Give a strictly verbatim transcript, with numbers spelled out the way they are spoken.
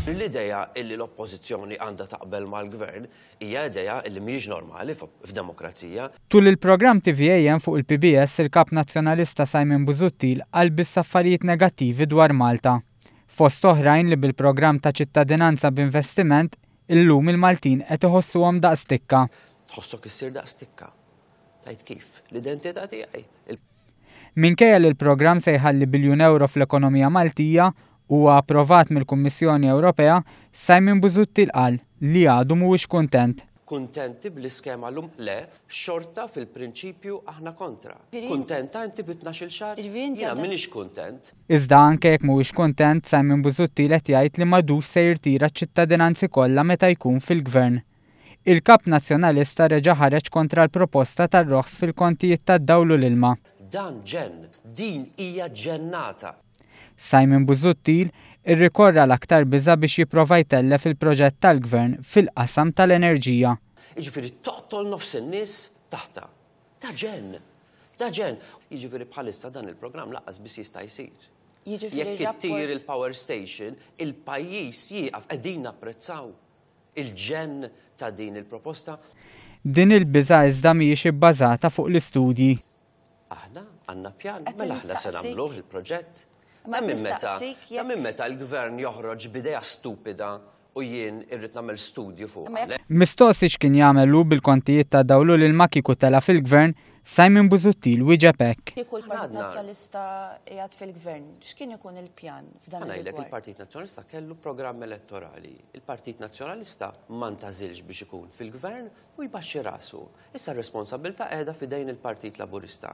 L-idea illi l-oppożizzjoni għandha taqbel mal-gvern hija idea illi mhijiex normali f'demokrazija. Tul il-programm T V A M fuq il-P B S, il-kap nazzjonalista Simon Busuttil qal biss affarijiet negattivi dwar Malta. Fost oħrajn li bil-programm ta' ċittadinanza b'investiment illum il-Maltin qed iħossuhom daqs tikka. Tħossok issir daqs tikka. Tajt kif? L-identità tiegħi. Minkejja li l-programm se jħalli biljun euro fl-ekonomija Maltija huwa approvat mill-Kummissjoni Ewropea, Simon Busuttil qal li għadu mhuwiex kuntent. Kuntenti bl-iskema llum? Le, xorta fil-prinċipju aħna kontra. Kuntenta inti bi tnax-il xahar? Jiena m'iniex kuntent. Iżda anke jekk mhuwiex kuntent, Simon Busuttil qed jgħid li m'għadux se jirtira ċ-ċittadinanzi kollha meta jkun fil-gvern. Il-kap nazzjonalista reġa' ħareġ kontra l-proposta tar-roħs fil-kontijiet tad-dawl u l-ilma. Dan ġenn, din hija ġennata. Simon Busuttil irrikorra l-aktar biża biex jipprova jtellef il-proġett tal-gvern fil-qasam tal-enerġija. Jiġifieri toqtol nofs in-nies taħta. Ta' ġenn, ta' ġenn. Jiġifieri bħalissa dan il-programm lanqas biss jista' jsir. Jekk ittir il-power station, il-pajjiż jieqaf. Qegħdin napprezzaw il-ġenn ta' din il-proposta. Din il-biża iżda mhijiex ibbażata fuq l-istudji. Aħna għandna pjan, mela aħna se nagħmluh il-proġett. Ta' minn meta, ta' minn meta l-gvern joħroġ b'idea stupida u jien irrid nagħmel studju fuq? Mistoqsi x'kien jagħmel hu bil-kontijiet ta' dawl u l-ilma kieku tela fil-gvern, Simon Busuttil wieġeb hekk. Kieku l-Partit Nazzjonalista qiegħed fil-gvern, x'kien ikun il-pjan f'dan il Il-Partit Nazzjonalista kellu programm elettorali. Il-Partit Nazzjonalista ma ntgħażilx biex ikun fil-gvern u jbaxxi rasu. Issa r-responsabilità qiegħda f'idejn il-Partit Laburista.